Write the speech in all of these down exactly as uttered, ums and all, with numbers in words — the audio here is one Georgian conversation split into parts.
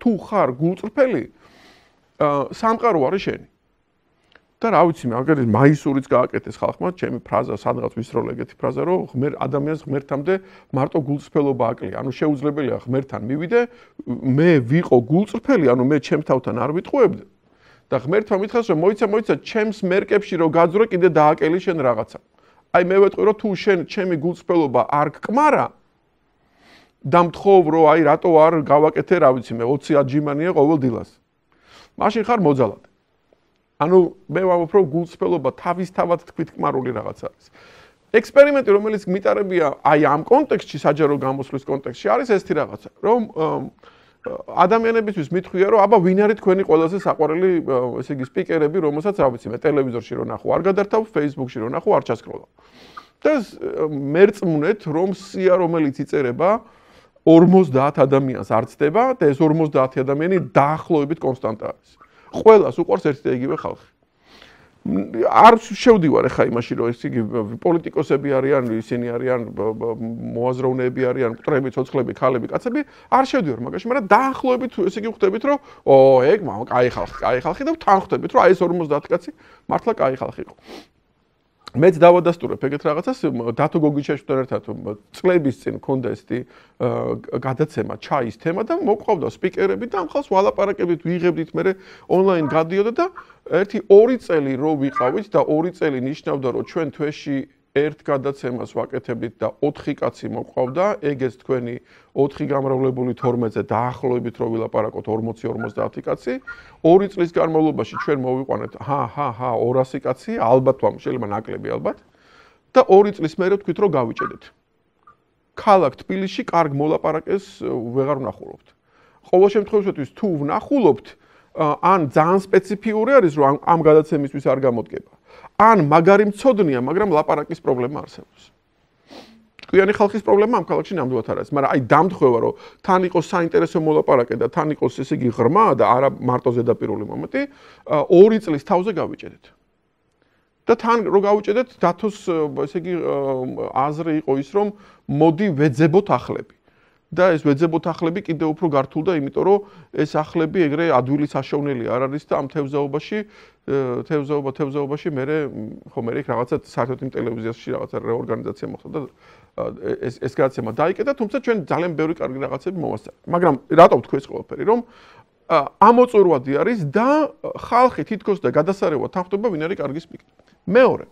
თუ ხარ გულწრფელი, სამყარო არის შენი. და რა ვიცი, მაგალითად მაისურიც გააკეთეს ხალხმა, ჩემი ფრაზა სადღაც ვისროლ ეგეთი ფრაზა, რომ ღმერ ადამიანს ღმერთამდე მარტო გულწრფელობა აკლია. ანუ შეუძლებელია ღმერთთან მივიდე, მე ვიყო გულწრფელი, ანუ მე ჩემ თავთან არ ვიტყუებდე. და ღმერთმა მითხრას, რომ მოიცა, მოიცა, ჩემს მერკებში რო გაძვრე, კიდე დააკელი შენ რაღაცა. აი მე ვეტყვი, რომ თუ შენ ჩემი გულწრფელობა არ გკმარა, და მთხოვ, რომ აი რატო არ გავაკეთე, რა ვიცი, მე ოცი აჯიმანია ყოველ დილას. მაშინ ხარ მოძალად. ანუ მე ვამბობ, რომ გულწრფელობა თავისთავად თქვით კმარული რაღაც არის. ექსპერიმენტი, რომელიც მიტარებია აი ამ კონტექსტში, საჯარო გამოსვლის კონტექსტში, არის ესეთი რაღაცა, რომ ადამიანებისთვის მithქვია, რომ აბა ვინ არის თქვენი ყველაზე საყვარელი, ესე იგი, სპიკერები, რომელსაც რა ვიცი, მე ტელევიზორში რო ნახო, არ გადართავ, Facebook-ში რო ნახო, არ ჩასკროლავ. და მერწმუნეთ, რომ სია, რომელიც იწერება ორმოცდაათ ადამიანს არ ცდება და ეს ორმოცდაათი ადამიანი დაახლოებით კონსტანტა არის. ყველას უყვარს ერთი და იგივე ხალხი. არ შევდივარ ახლა იმაში, რომ ეს იგი პოლიტიკოსები არიან, ისინი არიან მოაზროვნეები არიან, მკვრები, ცოცხლები, ქალები, კაცები, არ შევდივარ მაგაში, მაგრამ დაახლოებით ესე იგი ხვდებით, რომ ო, ეგ კაი ხალხი, კაი ხალხი და თან ხვდებით, რომ აი ეს ორმოცდაათი კაცი მართლა კაი ხალხი იყო. მეც დავადასტურებ ეგეთ რაღაცას, დათო გოგიჩაშვილთან ერთად წლების წინ მქონდა ესეთი გადაცემა ჩაის თემა და მოყვავდა სპიკერები და ამ ხალხს ვალაპარაკებით, ვიღებდით, მე ონლაინ გადიოდა და ერთი ორი წელი რო ვიყავით და ორი წელი ნიშნავდა, რომ ჩვენ თვეში ერთ გადაცემას ვაკეთებდით და ოთხი კაცი მოყვავდა, ეგეც თქვენი ოთხი გამრავლებული თორმეტზე დაახლოებით რო ვილაპარაკოთ ორმოცი ორმოცდაათი კაცი, ორი წლის განმავლობაში ჩვენ მოვიყვანეთ, ჰა, ჰა, ჰა, ორასი კაცი, ალბათ ვამ, შეიძლება ნაკლები ალბათ და ორი წლის მერე ვთქვით, რომ გავიჭედეთ. ქალაქ თბილისში კარგ მოლაპარაკეს ვეღარ ვნახულობთ. ყოველ შემთხვევაში თუ ვნახულობთ, ან ძალიან სპეციფიური არის, რომ ამ გადაცემისთვის არ გამოდგება. ან მაგარი მცოდნია, მაგრამ ლაპარაკის პრობლემა არსებობს. ჭკვიანი ხალხის პრობლემა ამ ქალაქში ნამდვილად არ არის, მაგრამ აი დამთხევა, რომ თან იყოს საინტერესო მოლაპარაკე და თან იყოს ესე იგი ღრმა და არა მარტო ზედაპირული მომენტი, ორი წლის თავზე გავიჭედეთ. და თან რო გავიჭედეთ, დათოს ესე იგი აზრი იყო ის, რომ მოდი ვეძებოთ ახლები. და ეს ვეძებოთ ახლები კიდევ უფრო გართულდა, იმიტომ რომ ეს ახლები ეგრე ადვილი საშოვნელი არ არის და ამ თევზაობაში, თევზაობა, თევზაობაში მე ხო მე რაღაცა საერთოდ იმ ტელევიზიაში რაღაცა რეორგანიზაცია მოხდა და ეს ეს გადაცემა დაიკეტა, თუმცა ჩვენ ძალიან ბევრი კარგი რაღაცები მოვასწარეთ. მაგრამ რატო ვთქვი ეს ყველაფერი, რომ ამოწურვადი არის და ხალხი თითქოს და გადასარევად თანხმდება, ვინ არის კარგი სპიკერი. მეორე.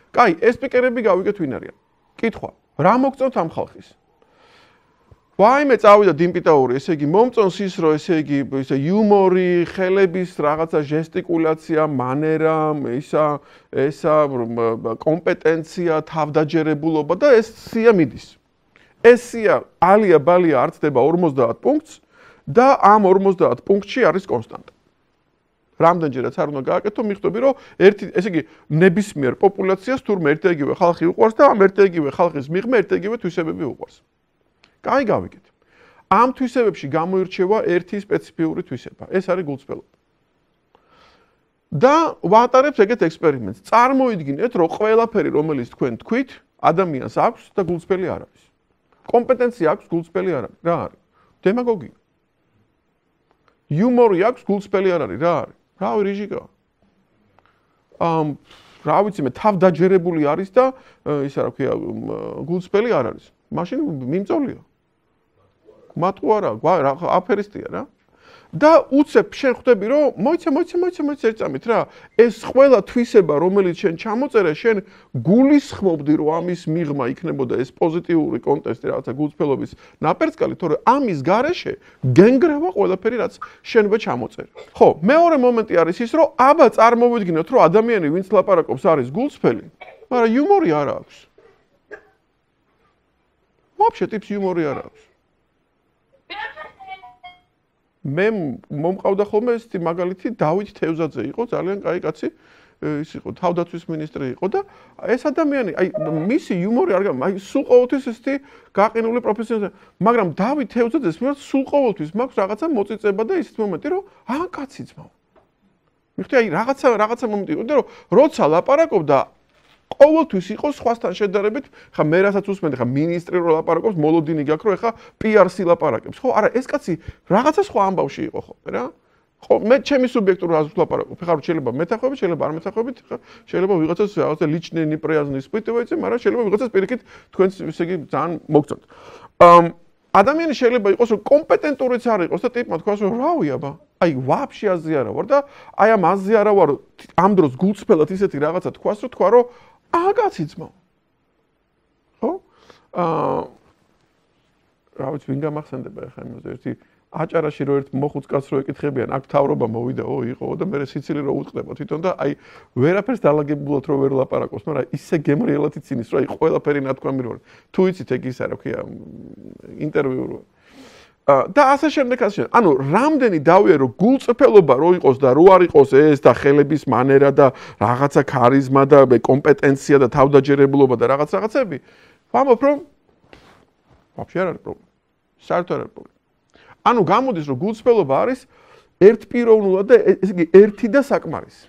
კაი, ეს სპიკერები გავიგეთ ვინ არიან. კითხვა, რა მოგწონთ ამ ხალხის? ვაიმე წავიდა დიმპიტაური, ესე იგი მომწონს ის, რომ ესე იგი ისე იუმორი, ხელების რაღაცა ჟესტიკულაცია, მანერა, ისა ესა კომპეტენცია, თავდაჯერებულობა და ეს სია მიდის. ეს სია ალია ბალია არ ცდება ორმოცდაათ პუნქტს და ამ ორმოცდაათ პუნქტში არის კონსტანტა. რამდენჯერაც არ უნდა გააკეთო, მიხვდები, რომ ერთი, ესე იგი ნებისმიერ პოპულაციას თურმე ერთი და იგივე ხალხი უყვარს და ამ ერთი და იგივე ხალხის მიღმა ერთი და იგივე თვისებები უყვარს. კაი გავიგეთ. ამ თვისებებში გამოირჩევა ერთი სპეციფიური თვისება. ეს არის გულწრფელობა. და ვატარებთ ეგეთ ექსპერიმენტს. წარმოიდგინეთ, რომ ყველაფერი, რომელიც თქვენ თქვით, ადამიანს აქვს და გულწრფელი არ არის. კომპეტენცია აქვს, გულწრფელი არ არის. რა არის? დემაგოგია. იუმორი აქვს, გულწრფელი არ არის. რა არის? რავი, რიჟიკა. ამ რა ვიცი მე, თავდაჯერებული არის და ისა რა ქვია, გულწრფელი არ არის. მაშინ მიმწოლია. მატყუ არა, აფერისტია რა. და უცებ შენ ხვდები, რომ მოიცა, მოიცა, მოიცა, მოიცა ერთწამით რა. ეს ყველა თვისება, რომელიც შენ ჩამოწერე, შენ გულისხმობდი, რომ ამის მიღმა იქნებოდა ეს პოზიტიური კონტექსტი, რაღაცა გულწრფელობის ნაპერწკალი, თორე ამის გარეშე გენგრევა ყველაფერი, რაც შენვე ჩამოწერე. ხო, მეორე მომენტი არის ის, რომ აბა წარმოვიდგინოთ, რომ ადამიანი, ვინც ლაპარაკობს, არის გულწრფელი, მაგრამ იუმორი არ აქვს. ვაფშე ტიპს იუმორი არ აქვს. მე მომყავდა ხოლმე ეს მაგალითი დავით თევზაძე იყო, ძალიან კაი კაცი, ის იყო თავდაცვის მინისტრი იყო და ეს ადამიანი, აი მისი იუმორი არ გამა, აი სულ ყოველთვის ესეთი გაყინული პროფესიონალი, მაგრამ დავით თევზაძეს მე სულ ყოველთვის მაქვს რაღაცა მოწიწება და ისეთ მომენტი, რომ აა კაცი ძმაო. მიხვდი, აი რაღაცა რაღაცა მომენტი იყო და რომ როცა ლაპარაკობდა ყოველთვის იყოს სხვასთან შედარებით, ხა მე რასაც უსმენდი, ხა მინისტრი რო ლაპარაკობს, მოლოდინი გაქვს, რომ ეხა პი არ სი ლაპარაკებს. ხო, არა, ეს კაცი რაღაცა სხვა ამბავში იყო ხოლმე რა. ხო, მე ჩემი სუბიექტურ აზრით ლაპარაკობ. ეხლა შეიძლება მეთახვებით, შეიძლება არ მეთახვებით, ხა შეიძლება ვიღაცას რაღაცა личные неприязни испытываете, მაგრამ შეიძლება ვიღაცას პირიქით თქვენს ესე იგი ძალიან მოგწონთ. აა ადამიანი შეიძლება იყოს რომ კომპეტენტურიც არ იყოს და ტიპმა თქვას რომ რავი აბა აი ვაფშე აზი არა ვარ და აი ამ აზი არა ვარ ამ დროს გულწრფელად ისეთი რაღაცა თქვას რომ თქვა რომ აა კაცი ძმაო ხო აა რა ვიცი ვინ გამახსენდება ახლა იმაზე ერთი აჭარაში რო ერთ მოხუც კაცს რო ეკითხებიან აქ თავრობა მოვიდაო იყო და მე სიცილი რო უტყდება თვითონ და აი ვერაფერს დალაგებულად რო ვერ ლაპარაკობს მაგრამ ისე გემრიელად იცინის რომ აი ყველაფერი ნათქვამი რო თუ იცით ეგ ის არა ქვია ინტერვიუ რო და ასე შემდეგ ასე შემდეგ ანუ რამდენი დავია რომ გულწრფელობა რო იყოს და რო არ იყოს ეს და ხელების მანერა და რაღაცა ქარიზმა და კომპეტენცია და თავდაჯერებლობა და რაღაც რაღაცები ვამბობ რომ ვაფშე არ არის პრობლემა საერთოდ არ არის პრობლემა ანუ გამოდის რომ გულწრფელობა არის ერთპიროვნულად და ესე იგი ერთი და საკმარისი